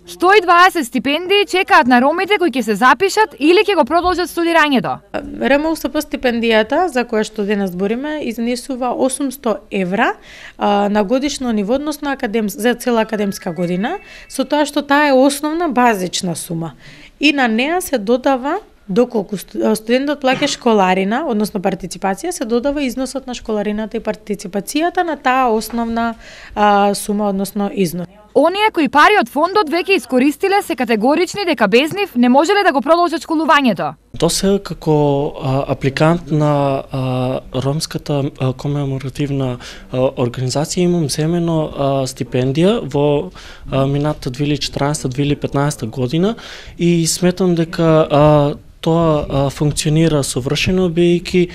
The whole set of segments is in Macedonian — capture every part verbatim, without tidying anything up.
сто и дваесет стипендии чекаат на ромите кои ќе се запишат или ќе го продолжат студирањето. РМУСП стипендијата за која што денес збориме изнесува осумсто евра а, на годишно ниво, односно академ... за цела академска година, со тоа што таа е основна базична сума. И на неа се додава, доколку студентот плаќа школарина, односно партиципација, се додава износот на школарината и партиципацијата на таа основна а, сума, односно износ. Оние кои пари од фондот веќе искористиле се категорични дека без нив не можеле да го продолжат школувањето. До сега како а, апликант на а, ромската а, комеморативна а, организација имам земено а, стипендија во а, мината две илјади и четиринаесета две илјади и петнаесета година и сметам дека а, тоа а, функционира совршено, бидејќи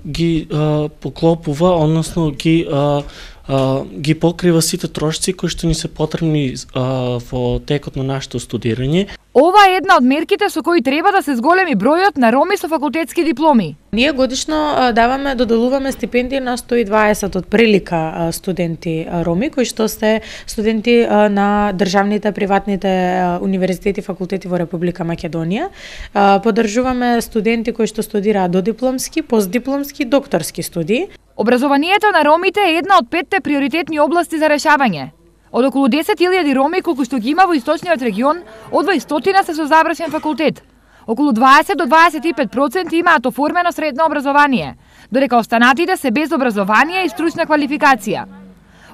ги а, поклопува, односно ги а, а, ги покрива сите трошци кои што ни се потребни а, во текот на нашето студирање. Ова е една од мерките со кои треба да се зголеми бројот на роми со факултетски дипломи. Ние годишно а, даваме, доделуваме стипендии на сто и дваесет од прилика а, студенти а, роми, кои што се студенти а, на државните, приватните а, универзитети и факултети во Република Македонија. А, поддржуваме студенти кои што студираат додипломски, постдипломски, докторски студии. Образованието на ромите е една од петте приоритетни области за решавање. Од околу десет илјади роми колку што ги има во источниот регион, од дваесетина се со завршен факултет. Околу дваесет до дваесет и пет проценти имаат оформено средно образование, додека останатите се без образование и стручна квалификација.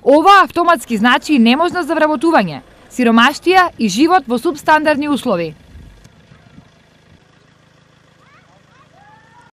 Ова автоматски значи и неможност за вработување, сиромаштија и живот во субстандардни услови.